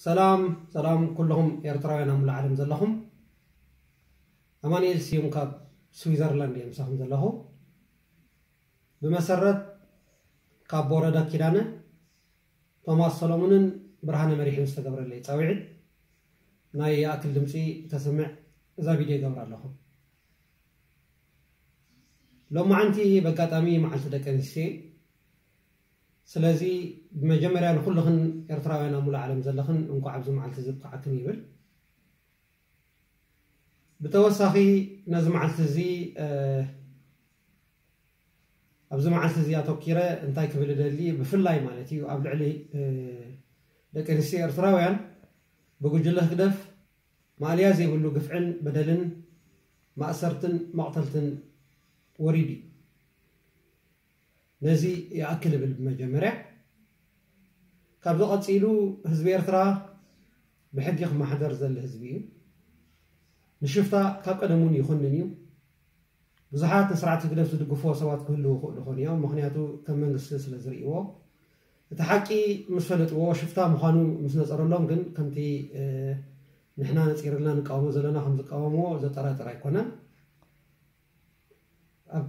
ሰላም ሰላም ኩልኹም ኤርትራውያን ኣብ ሙሉእ ዓለም ዘለኹም። ኣማኑኤል ስዩም ካብ ስዊዘርላንድ እየ ምሳኹም ዘለኹ። ብመሰረት ካብ ወረዳ ኪዳነ፣ ቶማስ ሰሎሙንን ብርሃነ መሪሕን ዝተገብረለይ ጻውዒት ናይ ይኣክል ድምፂ ተስምዕ እዛ ቪድዮ ይገብር ኣለኹ። ሎማዓንቲ በጋጣሚ መዓልቲ ደቂ ኣንስትዮ፣ ስለዚ ብመጀመርያ ንኩልኽን ኤርትራውያን ኣብ ሙሉእ ዓለም ዘለኽን እንኳዕ ኣብዚ መዓልቲ እዚ ኣብቅዓክን ይብል። ብተወሳኺ ነዚ መዓልቲ እዚ ኣብዚ መዓልቲ እዚ ኣተኪረ እንታይ ክብል እደሊ፣ ብፍላይ ማለት እዩ ኣብ ልዕሊ ደቂ ኣንስትዮ ኤርትራውያን ብጉጅለ ህግደፍ ማእለያ ዘይብሉ ግፍዕን በደልን ማእሰርትን መቕተልትን ወሪዱ እዩ። ነዚ ይኣክል እብል ብመጀመርያ። ካብዚ ቀፂሉ ህዝቢ ኤርትራ ብሕጊ ክመሓደር ዘለ ህዝቢ እዩ። ንሽፍታ ካብ ቀደም እውን ይኹንን እዩ። ብዙሓት ንስርዓት ህግደፍ ዝድግፍዎ ሰባት ክህልዉ ይኽእሉ ይኾኑ እዮም። ምኽንያቱ ከም መንግስቲ ስለ ዝርእይዎ፣ እቲ ሓቂ ምስ ፈለጥዎ ሽፍታ ምዃኑ ምስ ነፀረሎም ግን ከምቲ ንሕና ነፂርልና ንቃወሞ ዘለና ከም ዝቃወምዎ ዘጠራጥር ኣይኮነን።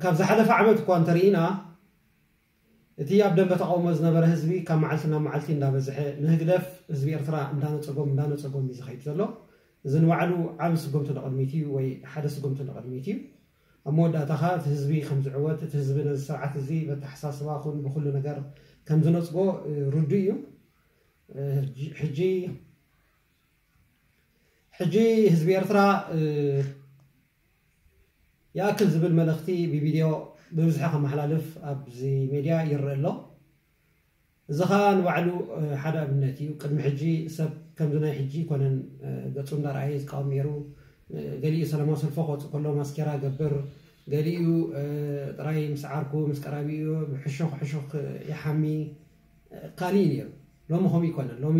ካብ ዝሓለፈ ዓመት እኳ እንተርኢና፣ እቲ ኣብ ደንበ ተቃውሞ ዝነበረ ህዝቢ ካብ መዓልቲ ናብ መዓልቲ እንዳበዝሐ፣ ንህግደፍ ህዝቢ ኤርትራ እንዳነጸጎም እንዳነጸጎም እዩ ዝኸይድ ዘሎ። እዚ ንባዕሉ ዓቢ ስጉምቲ ንቕድሚት እዩ፣ ወይ ሓደ ስጉምቲ ንቕድሚት እዩ። ኣብ መወዳእታ ኸኣ እቲ ህዝቢ ከም ዝዕወት፣ እቲ ህዝቢ ነዚ ስርዓት እዚ በተሓሳስባ ኹን ብኹሉ ነገር ከም ዝነጽጎ ርዱእ እዩ። ሕጂ ሕጂ ህዝቢ ኤርትራ ይኣክል ዝብል መልእኽቲ ብቪድዮ ብብዝሒ ከመሓላልፍ ኣብዚ ሜድያ ይረአ ኣሎ። እዚ ኸኣ ንባዕሉ ሓደ ኣብነት እዩ። ቅድሚ ሕጂ ሰብ ከምዚ ናይ ሕጂ ኣይኮነን ገጹ እንዳረኣየ ዝቃወም ነይሩ። ገሊኡ ሰላማዊ ሰልፊ ክወጽእ ከሎ ማስኬራ ይገብር፣ ገሊኡ ጥራይ ምስ ዓርኩ ምስ ቀራቢኡ ብሕሹኽ ሕሹኽ ይሓሚ፣ ካልእ እዩ ነይሩ። ሎሚ ከምኡ ኣይኮነን። ሎሚ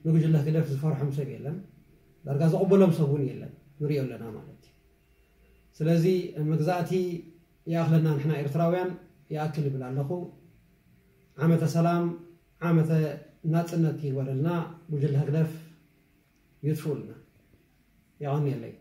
ንጉጅለ ህግደፍ ዝፈርሖም ሰብ የለን። ዳርጋ ዝቕበሎም ሰብ እውን የለን፣ ንሪኦ ኣለና ማለት እዩ። ስለዚ መግዛእቲ ይኣኽለና፣ ንሕና ኤርትራውያን ይኣክል ይብል ኣለኹ። ዓመተ ሰላም ዓመተ ናጽነት ይግበረልና። ጉጅለ ህግደፍ ይጥፍኡልና። የቐንየለይ።